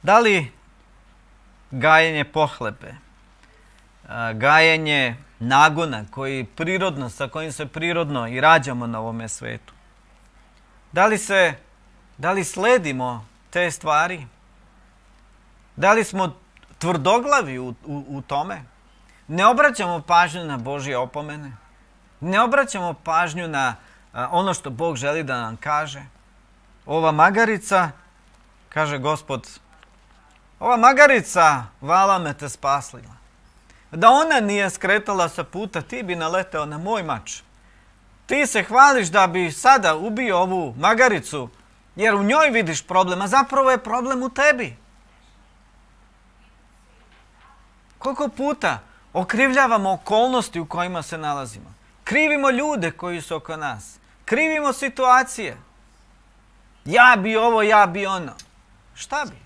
da li gajenje pohlepe, gajenje nagona sa kojim se prirodno i rađamo na ovome svetu. Da li sledimo te stvari? Da li smo tvrdoglavi u tome? Ne obraćamo pažnju na Božje opomene? Ne obraćamo pažnju na ono što Bog želi da nam kaže? Ova magarica, kaže Gospod, ova magarica vala me te spaslila. Da ona nije skretala sa puta, ti bi naleteo na moj mač. Ti se hvališ da bi sada ubio ovu magaricu, jer u njoj vidiš problem, a zapravo je problem u tebi. Koliko puta okrivljavamo okolnosti u kojima se nalazimo? Krivimo ljude koji su oko nas. Krivimo situacije. Ja bi ovo, ja bi ono. Šta bi?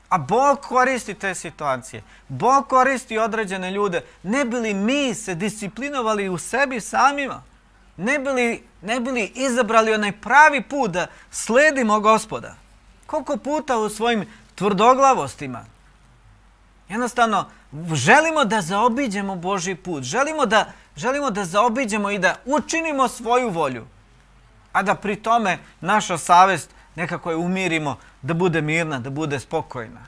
A Bog koristi te situacije. Bog koristi određene ljude. Ne bi li mi se disciplinovali u sebi samima? Ne bi li izabrali onaj pravi put da sledimo Gospoda? Koliko puta u svojim tvrdoglavostima jednostavno želimo da zaobiđemo Božji put. Želimo da zaobiđemo i da učinimo svoju volju. A da pri tome naša savest nekako je umirimo, da bude mirna, da bude spokojna.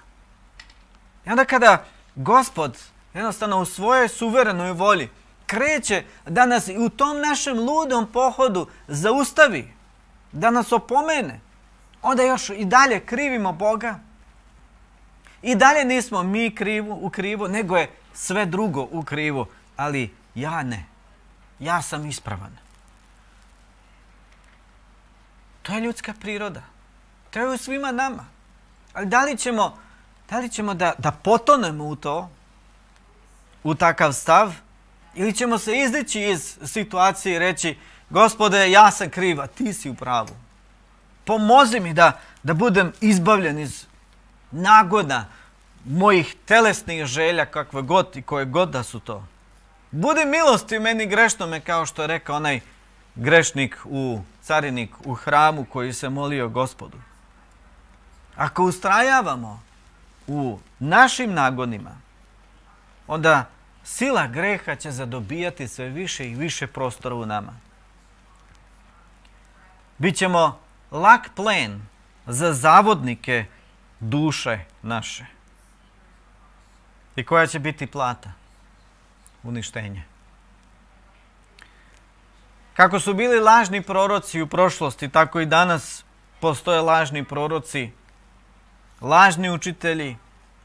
I onda kada Gospod jednostavno u svojoj suverenoj volji kreće da nas u tom našem ludom pohodu zaustavi, da nas opomene, onda još i dalje krivimo Boga. I dalje nismo mi u krivu, nego je sve drugo u krivu, ali ja ne. Ja sam ispravan. To je ljudska priroda. To je u svima nama. Ali da li ćemo da potonemo u to, u takav stav, ili ćemo se izdići iz situacije i reći, Gospode, ja sam kriva, ti si u pravu. Pomozi mi da budem izbavljen iz nagona mojih telesnih želja, kakve god i koje god da su to. Budi milosti meni grešnome, kao što je rekao onaj grešnik carinik u hramu koji se molio Gospodu. Ako ustrajavamo u našim nagonima, onda sila greha će zadobijati sve više i više prostora u nama. Bićemo lak plen za zavodnike duše naše. I koja će biti plata? Uništenje. Kako su bili lažni proroci u prošlosti, tako i danas postoje lažni proroci, lažni učitelji,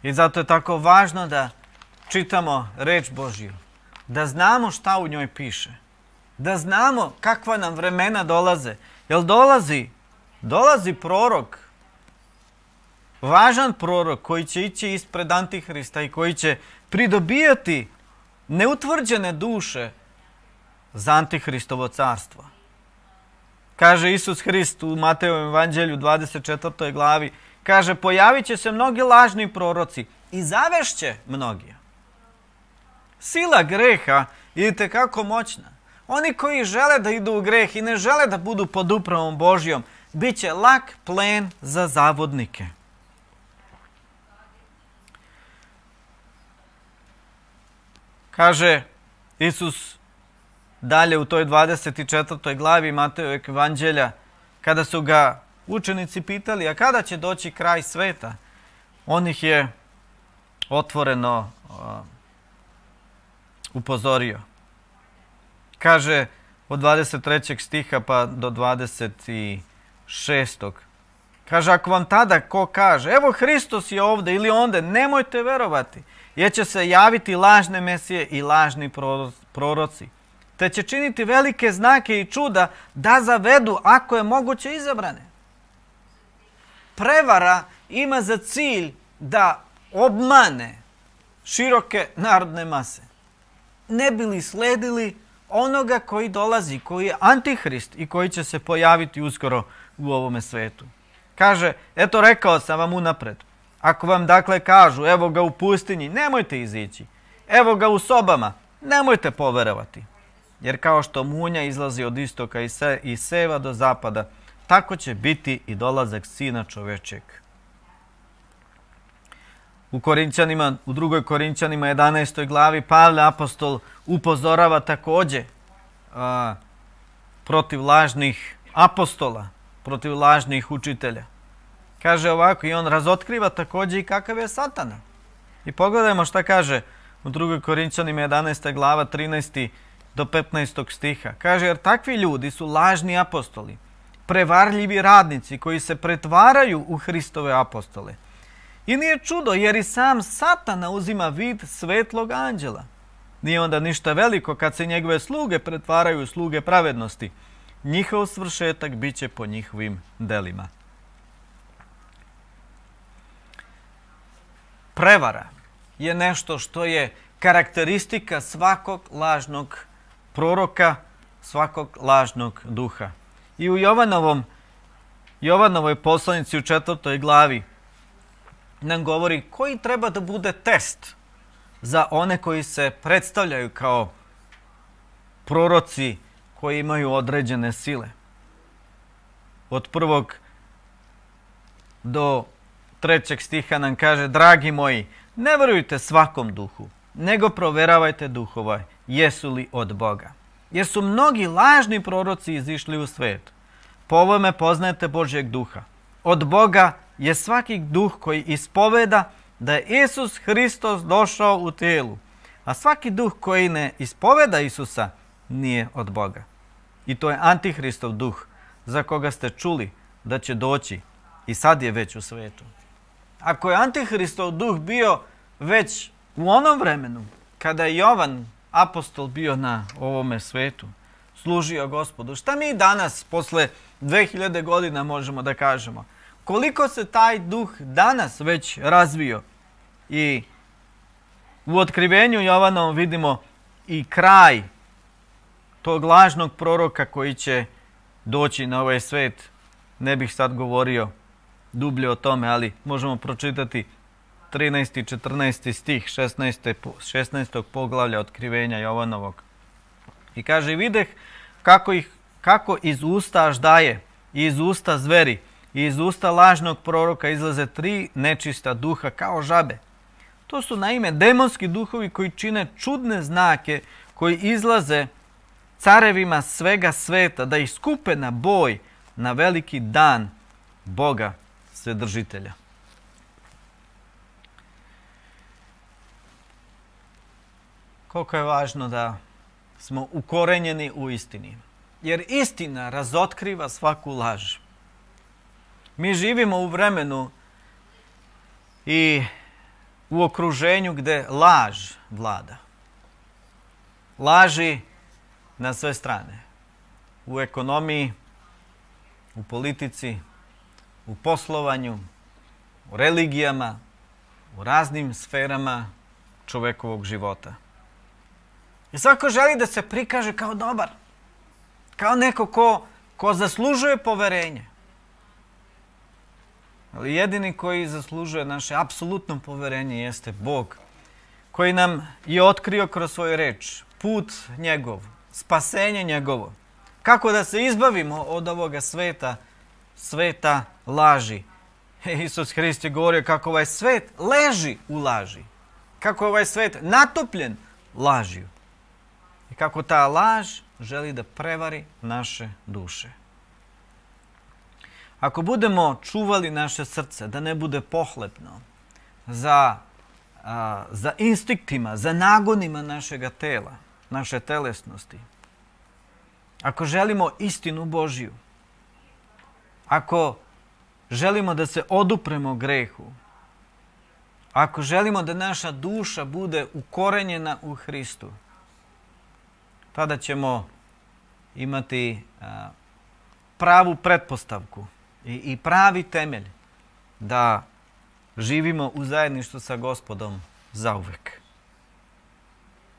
i zato je tako važno da čitamo reč Božju, da znamo šta u njoj piše, da znamo kakva nam vremena dolaze. Jer dolazi prorok, važan prorok koji će ići ispred Antihrista i koji će pridobijati neutvrđene duše za Antihristovo carstvo. Kaže Isus Hrist u Mateovom evanđelju 24. glavi, kaže, pojavit će se mnogi lažni proroci i zavešće mnogi. Sila greha je itekako moćna. Oni koji žele da idu u greh i ne žele da budu pod upravom Božjom, bit će lak plen za zavodnike. Kaže Isus dalje u toj 24. glavi Mateovog evanđelja, kada su ga učenici pitali, a kada će doći kraj sveta, on ih je otvoreno upozorio. Kaže od 23. stiha pa do 26. Kaže, ako vam tada ko kaže, evo Hristos je ovdje ili onde, nemojte verovati, jer će se javiti lažne mesije i lažni proroci, te će činiti velike znake i čuda da zavedu, ako je moguće, izabrane. Prevara ima za cilj da obmane široke narodne mase. Ne bi li sledili onoga koji dolazi, koji je Antihrist i koji će se pojaviti uskoro u ovome svetu. Kaže, eto rekao sam vam unapred, ako vam dakle kažu, evo ga u pustinji, nemojte izići, evo ga u sobama, nemojte poverovati. Jer kao što munja izlazi od istoka i seva do zapada, tako će biti i dolazak Sina čovečeg. U drugoj Korinćanima 11. glavi Pavle apostol upozorava također protiv lažnih apostola, protiv lažnih učitelja. Kaže ovako, i on razotkriva također i kakav je Satana. I pogledajmo šta kaže u 2. Korinćanima 11. glava 13. do 15. stiha. Kaže, jer takvi ljudi su lažni apostoli, prevarljivi radnici koji se pretvaraju u Hristove apostole. I nije čudo, jer i sam Satana uzima vid svetlog anđela. Nije onda ništa veliko kad se njegove sluge pretvaraju u sluge pravednosti. Njihov svršetak bit će po njihovim delima. Prevara je nešto što je karakteristika svakog lažnog proroka, svakog lažnog duha. I u Jovanovoj poslanici u 4. glavi nam govori koji treba da bude test za one koji se predstavljaju kao proroci koji imaju određene sile. Od 1. do 3. stiha nam kaže, dragi moji, ne verujte svakom duhu, nego proveravajte duhova, jesu li od Boga. Jer su mnogi lažni proroci izišli u svijet. Po ovome poznajete Božjeg duha. Od Boga je svaki duh koji ispoveda da je Isus Hristos došao u tijelu, a svaki duh koji ne ispoveda Isusa nije od Boga. I to je Antihristov duh, za koga ste čuli da će doći i sad je već u svijetu. Ako je Antihristov duh bio već u onom vremenu, kada je Jovan, apostol, bio na ovome svijetu, služio Gospodu, šta mi danas, posle 2000 godina, možemo da kažemo? Koliko se taj duh danas već razvio? I u otkrivenju Jovanovom vidimo i kraj tog lažnog proroka koji će doći na ovaj svijet. Ne bih sad govorio dublje o tome, ali možemo pročitati 13. i 14. stih 16. poglavlja otkrivenja Jovanovog. I kaže, videh kako iz usta aždaje i iz usta zveri i iz usta lažnog proroka izlaze 3 nečista duha kao žabe. To su naime demonski duhovi koji čine čudne znake, koji izlaze carevima svega sveta da ih skupe na boj na veliki dan Boga Svedržitelja. Koliko je važno da smo ukorenjeni u istini. Jer istina razotkriva svaku laž. Mi živimo u vremenu i u okruženju gdje laž vlada. Laži na sve strane. U ekonomiji, u politici, u poslovanju, u religijama, u raznim sferama čovekovog života. I svako želi da se prikaže kao dobar, kao neko ko zaslužuje poverenje. Ali jedini koji zaslužuje naše apsolutno poverenje jeste Bog, koji nam je otkrio kroz svoju reč put njegov, spasenje njegovo. Kako da se izbavimo od ovoga sveta laži. Isus Hrist je govorio kako ovaj svet leži u laži. Kako je ovaj svet natopljen lažju. I kako ta laž želi da prevari naše duše. Ako budemo čuvali naše srce, da ne bude pohlepno za instiktima, za nagonima našega tela, naše telesnosti, ako želimo istinu Božju, ako želimo da se odupremo grehu, ako želimo da naša duša bude ukorenjena u Hristu, tada ćemo imati pravu pretpostavku i pravi temelj da živimo u zajedništvu sa Gospodom zauvek.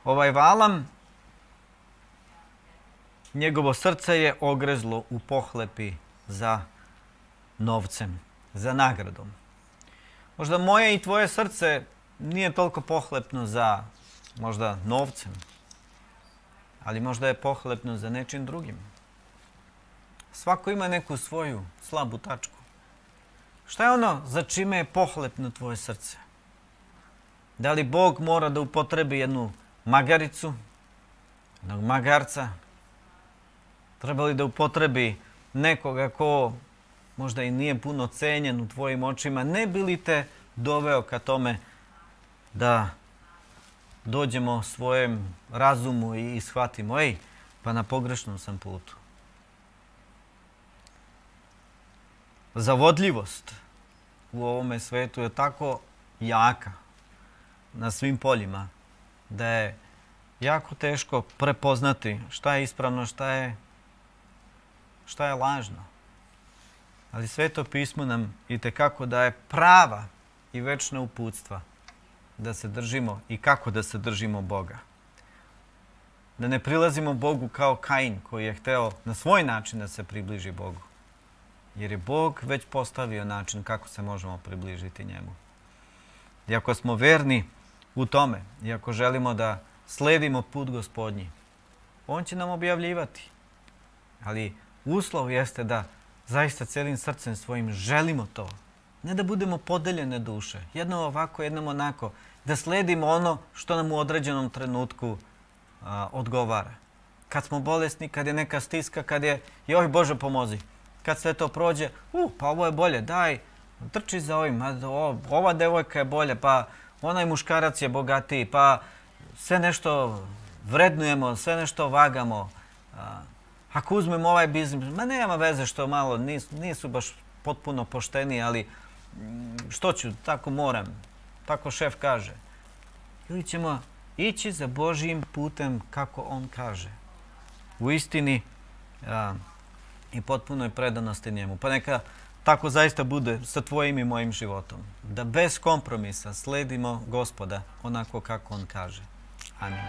Ovaj Valam, njegovo srce je ogrezlo u pohlepi za novcem, za nagradom. Možda moje i tvoje srce nije toliko pohlepno za možda novcem, ali možda je pohlepno za nečim drugim. Svako ima neku svoju slabu tačku. Šta je ono za čime je pohlepno tvoje srce? Da li Bog mora da upotrebi jednu magaricu, jednog magarca? Treba li da upotrebi nekoga ko možda i nije puno cenjen u tvojim očima? Ne bi li te doveo ka tome da dođemo svojem razumu i shvatimo, pa na pogrešnom sam putu. Zavodljivost u ovome svetu je tako jaka na svim poljima da je jako teško prepoznati šta je ispravno, šta je lažno. Ali Sveto pismo nam itekako daje prava i večna uputstva da se držimo i kako da se držimo Boga. Da ne prilazimo Bogu kao Kain koji je hteo na svoj način da se približi Bogu. Jer je Bog već postavio način kako se možemo približiti njemu. I ako smo verni u tome i ako želimo da sledimo put Gospodnji, on će nam objavljivati. Ali uslov jeste da zaista celim srcem svojim želimo to. Ne da budemo podeljene duše. Jednom ovako, jednom onako. Da sledimo ono što nam u određenom trenutku odgovara. Kad smo bolesni, kad je neka stiska, kad je joj Bože pomozi. Kad sve to prođe, pa ovo je bolje, daj, trči za ovim, ova devojka je bolja, pa onaj muškarac je bogatiji, pa sve nešto vrednujemo, sve nešto vagamo. Ako uzmemo ovaj biznis, nema veze što malo, nisu baš potpuno pošteni, ali što ću, tako moram, tako šef kaže. Ili ćemo ići za Božjim putem kako on kaže. U istini i potpunoj predanosti njemu. Pa neka tako zaista bude sa tvojim i mojim životom. Da bez kompromisa sledimo Gospoda onako kako on kaže. Amin.